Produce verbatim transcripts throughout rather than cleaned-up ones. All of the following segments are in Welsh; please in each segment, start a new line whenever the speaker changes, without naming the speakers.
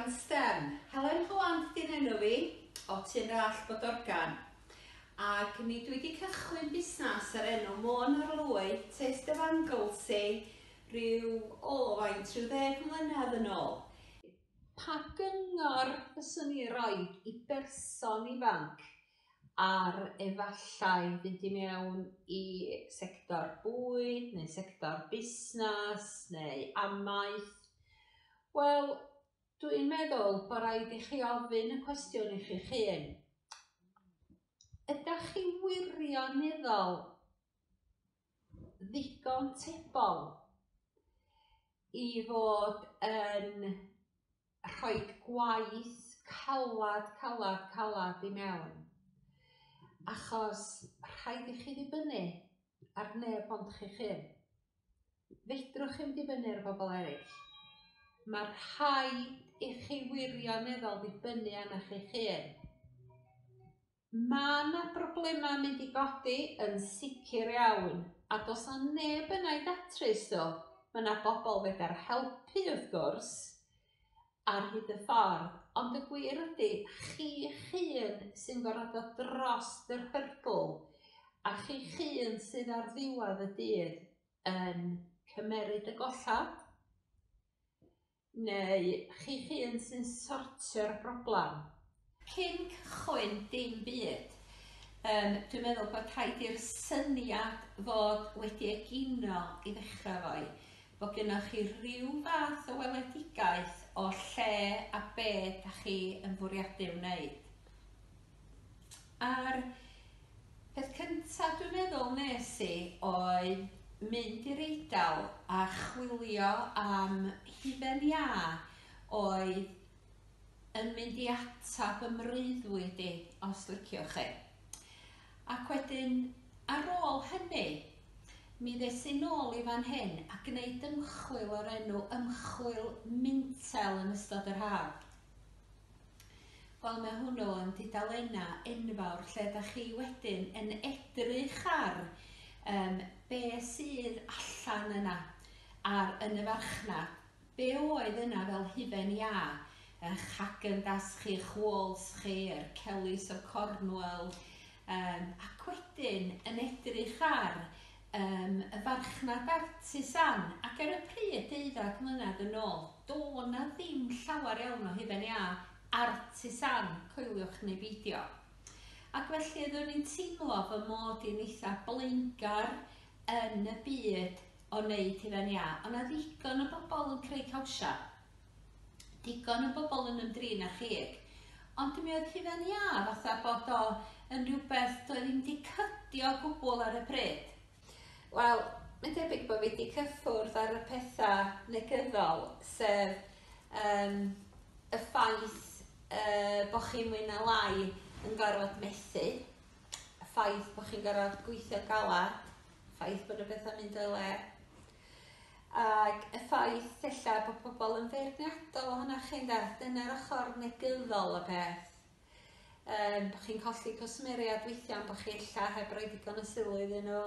Bodorgan STEM. Helen Holland di'n enw fi, o Tyn Rallt Bodorgan. Ac mi dwi wedi cychwyn busnes ar enw Môn Arlwy, Taste of Anglesey, rhyw, o, faint, rhyw ddeg mlynedd yn ôl. Pa gyngor fyswn i roi i berson ifanc ar efallai fynd i mewn i sector bwyd neu sector busnes neu amaeth? Wel, dwi'n meddwl bod rhaid i chi ofyn y cwestiwn i chi'ch hun. Ydach chi wirioneddol ddigon tebol i fod yn rhoi gwaith calad, calad, calad i mewn? Achos rhaid i chi ddibynnu ar neb ond chi'ch hun. Fedrwch chi'm dibynnu ar bobl eraill. Mae rhaid i chi wirioneddol ddibynnu arnoch chi'ch hun. Mae yna broblemau mynd i godi yn sicr iawn, a does 'na neb yna i datrys nhw. Mae yna bobl fedar helpu wrth gwrs ar hyd y ffordd, ond y gwir ydy, chi'ch hun sy'n gorfod dod dros yr hurdle, a chi'ch hun sydd ar ddiwedd y dydd yn cymeryd y gollad, neu chi'ch hun sy'n sortio'r broblem. Cyn cychwyn dim byd, um, dwi'n meddwl bod rhaid i'r syniad fod wedi egino i ddechrau fo'i. Bod gennych chi rhyw fath o weledigaeth o lle a be da chi yn fwriadu wneud. A'r peth cyntaf dwi'n meddwl nes i oedd mynd i'r Eidal a chwilio am hufen iâ oedd yn mynd i atab y mreuddwyd i, os liciwch chi. Ac wedyn, ar ôl hynny, mi ddes i nôl i fan hyn a gwneud ymchwil o'r enw ymchwil Mintel yn ystod yr haf. Wel, mae hwnnw yn dudalennau enfawr lle da chi wedyn yn edrych ar um, be sydd allan yna ar, yn y farchnad. Be oedd yna fel hufen iâ, eich Häagen-Dazs chi, eich Walls chi, yr Kellys o Cornwall, um, ac wedyn yn edrych ar um, y farchnad artisan, ac ar y pryd deuddag mlynedd yn ôl, do na ddim llawer iawn o hufen iâ artisan, coeliwch neu beidio. Ac felly oeddwn i'n teimlo fy mod i'n eitha blaengar yn y byd o wneud hufen iâ. Ond na ddigon o bobl yn creu cawsia, digon o bobl yn ymdrin â chig. Ond mi oedd hufen iâ fatha bod o yn rhywbeth doedd ddim wedi cydio o gwbl ar y pryd. Wel, mae'n debyg bod fi wedi cyffwrdd ar y pethau negyddol, sef um, y ffaith uh, bod chi mwy na lai yn gorfod methu, y ffaith bod chi'n gorfod gweithio galad, y ffaith bod y bethau'n mynd o'i le, ac y ffaith ella bod pobl yn feirniadol ohonoch chi'n de, dyna'r ochr negyddol y peth. Um, bod chi'n colli cwsmeriaid weithiau, bod chi ella heb roi digon o sylw iddyn nhw,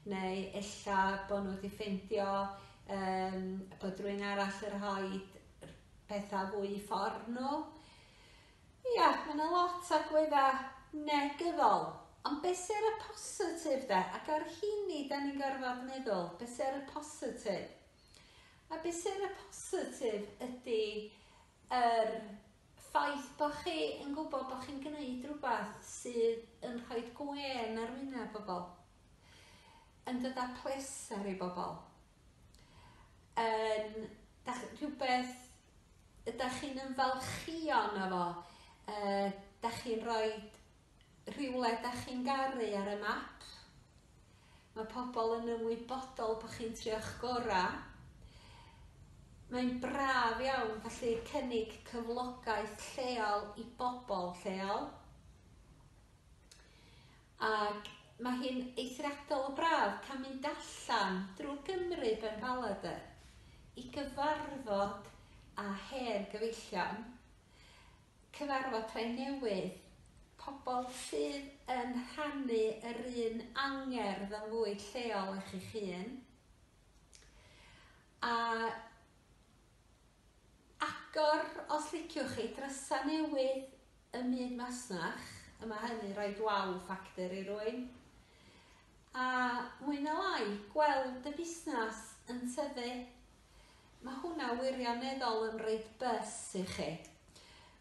neu ella bod nhw wedi ffeindio um, bod rhywun arall yn rhoi pethau fwy i ffordd nhw. Ia, mae yna lot o agweddau negyddol. Ond beth sy'n ar y positif de? Ac ar hynny da ni'n gorfod meddwl, beth sy'n ar y positif? A beth sy'n ar y positif ydy yr ffaith bod chi yn gwybod bod chi'n gwneud rhywbeth sydd yn rhoi gwên ar wyneb bobl, yn dod â pleser i bobl, yn dach, rhywbeth ydych chi'n ymfalchio yno fo, uh, dach chi'n rhoi rhywle dach chi'n garu ar y map. Mae pobl yn ymwybodol bod chi'n trio'ch gorau. Mae'n braf iawn gallu cynnig cyflogaeth lleol i bobl lleol. Ac mae hi'n eithriadol o braf cael mynd allan drwy Gymru benbaladr i gyfarfod â hen gyfeillion, cyfarfod rhai newydd, pobl sydd yn rhannu yr un angerdd am fwyd lleol â chi'ch hun. A Agor, os liciwch chi, drysa newydd ym myd masnach, a mae hynny'n rhoid wow factor i rywun. A mwy na lai, gweld y busnes yn tyfu. Mae hwnna wirioneddol yn rhoid buzz i chi.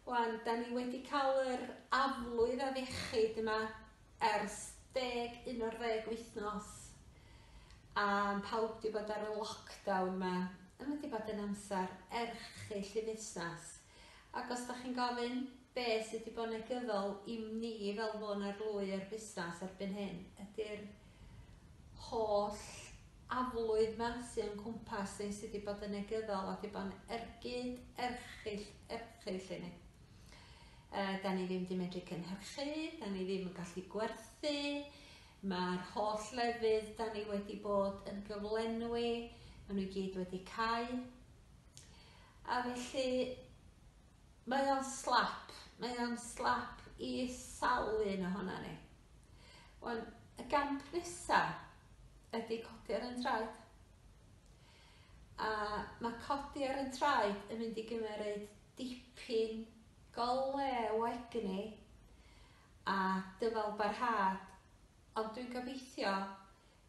Wan, da ni wedi cael yr aflwydd afiechyd yma ers deg, un o'r ddeg wythnos. A pawb wedi bod ar y lockdown yma. A mae wedi bod yn amser erchyll i fusnes. Ac os da chi'n gofyn be sydd wedi bod yn negyddol i ni fel Môn Arlwy a'r busnes erbyn hyn, ydy'r holl aflwydd yma sy'n o'n cwmpas ni sydd wedi bod yn negyddol a wedi bod yn ergyd erchyll, erchyll i ni. Uh, da ni ddim wedi medru cynhyrchu, da ni ddim yn gallu gwerthu, mae'r holl lefydd da ni wedi bod yn gyflenwi, maen nhw i gyd wedi cau. A felly, mae o'n slap, mae o'n slap i sawl un ohona ni. Wan, y gamp nesa ydy codi ar yn traed. A mae codi ar yn traed yn mynd i gymeryd dipyn go lew o egni a dyfal barhad, ond dwi'n gobeithio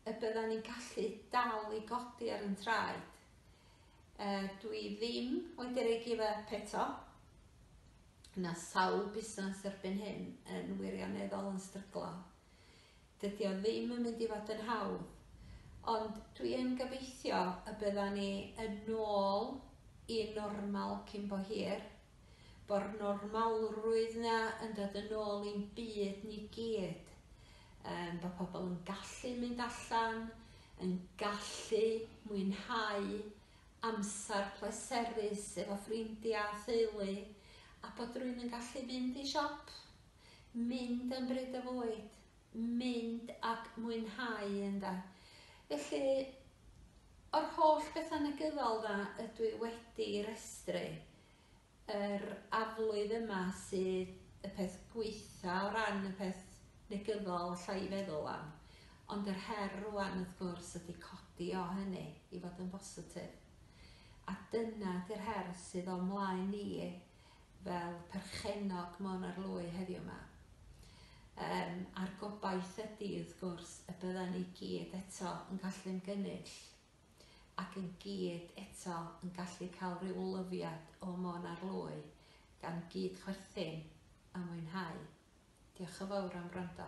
y byddan ni'n gallu dal i godi ar yn traed. Uh, dwi ddim wedi rhoi give up eto. Na sawl busnes erbyn hyn yn wirioneddol yn stryglo. Dydy o ddim yn mynd i fod yn hawdd, ond dwi yn gobeithio y byddan ni yn ôl i normal cyn bo hir, bo'r normalrwydd na yn dod yn ôl i'n byd ni gyd. Um, bod pobl yn gallu mynd allan, yn gallu mwynhau amser pleserus efo ffrindiau a theulu, a bod rhywun yn gallu mynd i siop, mynd am bryd o fwyd, mynd ac mwynhau ynde. Felly, o'r holl bethau negyddol na ydw i wedi restru, yr aflwydd yma sydd y peth gweitha o ran y peth negyddol alla i feddwl am. Ond yr her rwan wrth gwrs ydy codi o hynny i fod yn bositif. A dyna ydy'r her sydd o mlaen ni fel perchennog Môn Arlwy heddiw yma. Um, a'r gobaith ydy wrth gwrs y byddan ni gyd eto yn gallu ymgynnull ac yn gyd eto yn gallu cael rhyw lyfiad o Môn Arlwy gan gyd chwerthin a mwynhau. Diolch yn fawr am wrando.